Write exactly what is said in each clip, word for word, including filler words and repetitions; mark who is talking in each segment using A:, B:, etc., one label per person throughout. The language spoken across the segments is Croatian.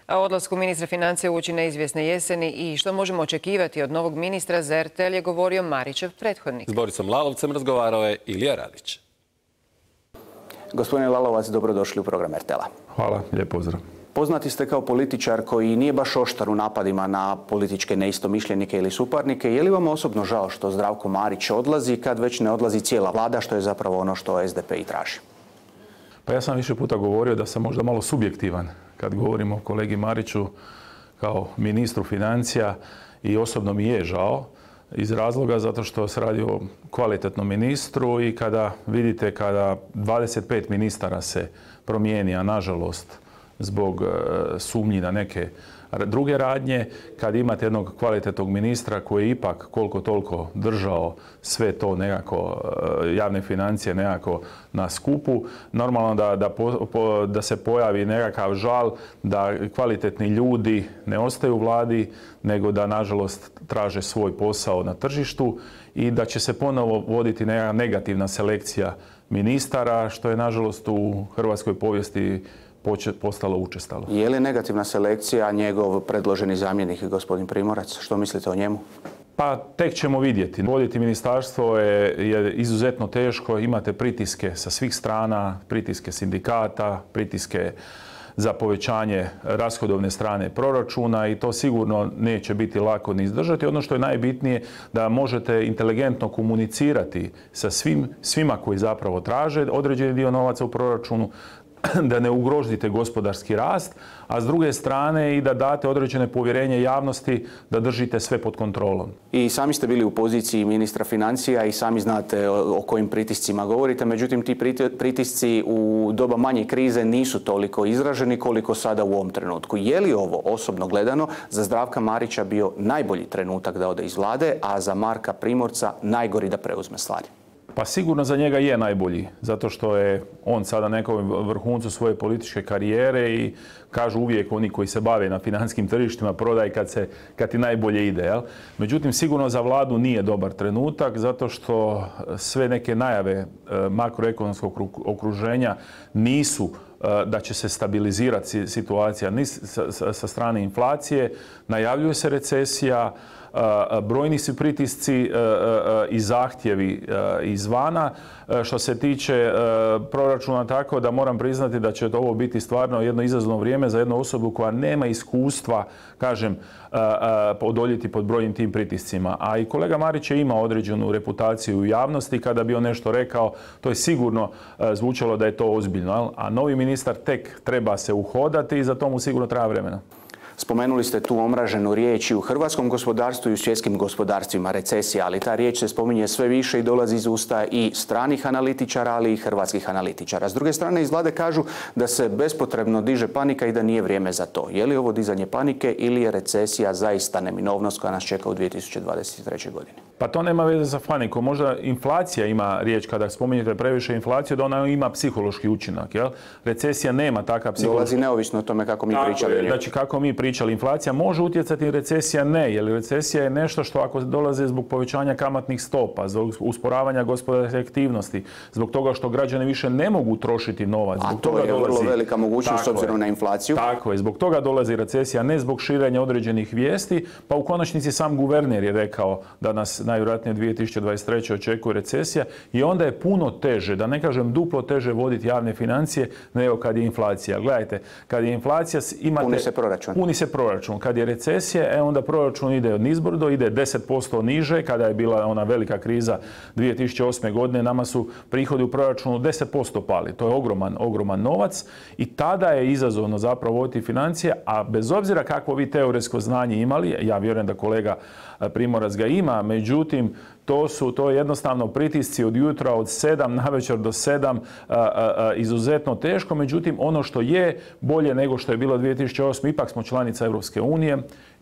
A: A odlasku ministra financija uoči neizvjesne jeseni i što možemo očekivati od novog ministra za er te el je govorio Marićev prethodnik.
B: S Borisom Lalovcem razgovarao je Ilija Radić.
C: Gospodine Lalovac, dobrodošli u program er te el-a.
D: Hvala, lijep pozdrav.
C: Poznati ste kao političar koji nije baš oštar u napadima na političke neistomišljenike ili suparnike. Je li vam osobno žao što Zdravko Marić odlazi kad već ne odlazi cijela vlada, što je zapravo ono što es de pe i traži?
D: Pa ja sam više puta govorio da sam možda malo subjektivan kad govorimo o kolegi Mariću kao ministru financija i osobno mi je žao iz razloga zato što se radi o kvalitetnom ministru i kada vidite kada dvadeset pet ministara se promijeni, a nažalost zbog sumnji na neke druge radnje, kad imate jednog kvalitetnog ministra koji je ipak koliko toliko držao sve to nekako, javne financije nekako na skupu, normalno da, da, po, da se pojavi nekakav žal da kvalitetni ljudi ne ostaju u vladi, nego da nažalost traže svoj posao na tržištu i da će se ponovo voditi neka negativna selekcija ministara, što je nažalost u hrvatskoj povijesti postalo učestalo.
C: Je li negativna selekcija njegov predloženi zamjenik, gospodin Primorac? Što mislite o njemu?
D: Pa tek ćemo vidjeti. Voditi ministarstvo je, je izuzetno teško. Imate pritiske sa svih strana, pritiske sindikata, pritiske za povećanje rashodovne strane proračuna i to sigurno neće biti lako ni izdržati. Ono što je najbitnije da možete inteligentno komunicirati sa svim, svima koji zapravo traže određeni dio novaca u proračunu, da ne ugrozite gospodarski rast, a s druge strane i da date određene povjerenje javnosti da držite sve pod kontrolom.
C: I sami ste bili u poziciji ministra financija i sami znate o kojim pritiscima govorite, međutim ti pritisci u doba manje krize nisu toliko izraženi koliko sada u ovom trenutku. Je li ovo osobno gledano za Zdravka Marića bio najbolji trenutak da ode iz vlade, a za Marka Primorca najgori da preuzme stvari?
D: Pa sigurno za njega je najbolji, zato što je on sada na nekom vrhuncu svoje političke karijere i kažu uvijek oni koji se bave na financijskim tržištima prodaj kad, se, kad ti najbolje ide. Jel? Međutim, sigurno za vladu nije dobar trenutak, zato što sve neke najave makroekonomskog okruženja nisu da će se stabilizirati situacija ni sa, sa, sa strane inflacije, najavljuje se recesija, brojni su pritisci i zahtjevi izvana. Što se tiče proračuna, tako da moram priznati da će ovo biti stvarno jedno izazovno vrijeme za jednu osobu koja nema iskustva, kažem, odoljeti pod brojnim tim pritiscima. A i kolega Marić je imao određenu reputaciju u javnosti. Kada bi on nešto rekao, to je sigurno zvučalo da je to ozbiljno. A novi ministar tek treba se uhodati i za to mu sigurno treba vremena.
C: Spomenuli ste tu omraženu riječ i u hrvatskom gospodarstvu i u svjetskim gospodarstvima, recesija, ali ta riječ se spominje sve više i dolazi iz usta i stranih analitičara, ali i hrvatskih analitičara. S druge strane, iz vlade kažu da se bespotrebno diže panika i da nije vrijeme za to. Je li ovo dizanje panike ili je recesija zaista neminovnost koja nas čeka u dvije tisuće dvadeset trećoj godini?
D: Pa to nema veze sa panikom. Možda inflacija ima riječ, kada spominjete previše inflaciju, da ona ima psihološki učinak. Jel? Recesija nema takav psihološki.
C: Dolazi neovisno o tome kako mi pričali.
D: Znači kako mi pričali, inflacija može utjecati, recesija ne, jer recesija je nešto što ako dolaze zbog povećanja kamatnih stopa, zbog usporavanja gospodarske aktivnosti, zbog toga što građani više ne mogu trošiti novac.
C: A to je vrlo velika mogućnost s obzirom na inflaciju.
D: Tako je, zbog toga dolazi recesija, ne zbog širenja određenih vijesti, pa u konačnici sam guverner je rekao da nas najvjerojatnije dvije tisuće dvadeset treće očekuje recesija i onda je puno teže, da ne kažem duplo teže voditi javne financije nego kad je inflacija. Gledajte, kad je inflacija imate...
C: Puni se proračun.
D: Puni se proračun. Kad je recesija, e, onda proračun ide nizbrdo, ide deset posto niže. Kada je bila ona velika kriza dvije tisuće osme godine, nama su prihodi u proračunu deset posto pali. To je ogroman, ogroman novac i tada je izazovno zapravo voditi financije, a bez obzira kakvo vi teoretsko znanje imali, ja vjerujem da kolega Primorac ga ima, međutim, to su to je jednostavno pritisci od jutra od sedam navečer do sedam, a, a, a, izuzetno teško. Međutim, ono što je bolje nego što je bilo dvije tisuće osme, ipak smo članica Europske unije.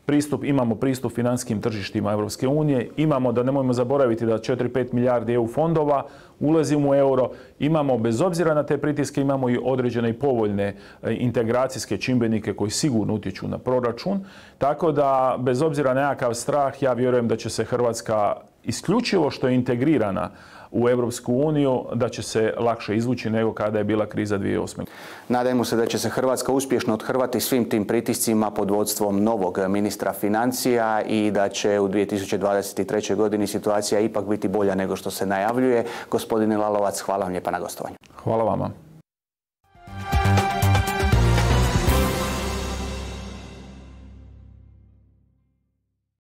D: Pristup, imamo pristup financijskim tržištima Europske unije, imamo, da nemojmo zaboraviti da četiri do pet milijardi E U fondova ulazimo u euro, imamo bez obzira na te pritiske, imamo i određene i povoljne integracijske čimbenike koji sigurno utječu na proračun, tako da bez obzira na nekakav strah, ja vjerujem da će se Hrvatska isključivo što je integrirana u Europsku uniju, da će se lakše izvući nego kada je bila kriza dvije tisuće osme.
C: Nadajmo se da će se Hrvatska uspješno othrvati svim tim pritiscima pod vodstvom novog ministra financija i da će u dvije tisuće dvadeset trećoj godini situacija ipak biti bolja nego što se najavljuje. Gospodine Lalovac, hvala vam lijepa na gostovanju.
D: Hvala vama.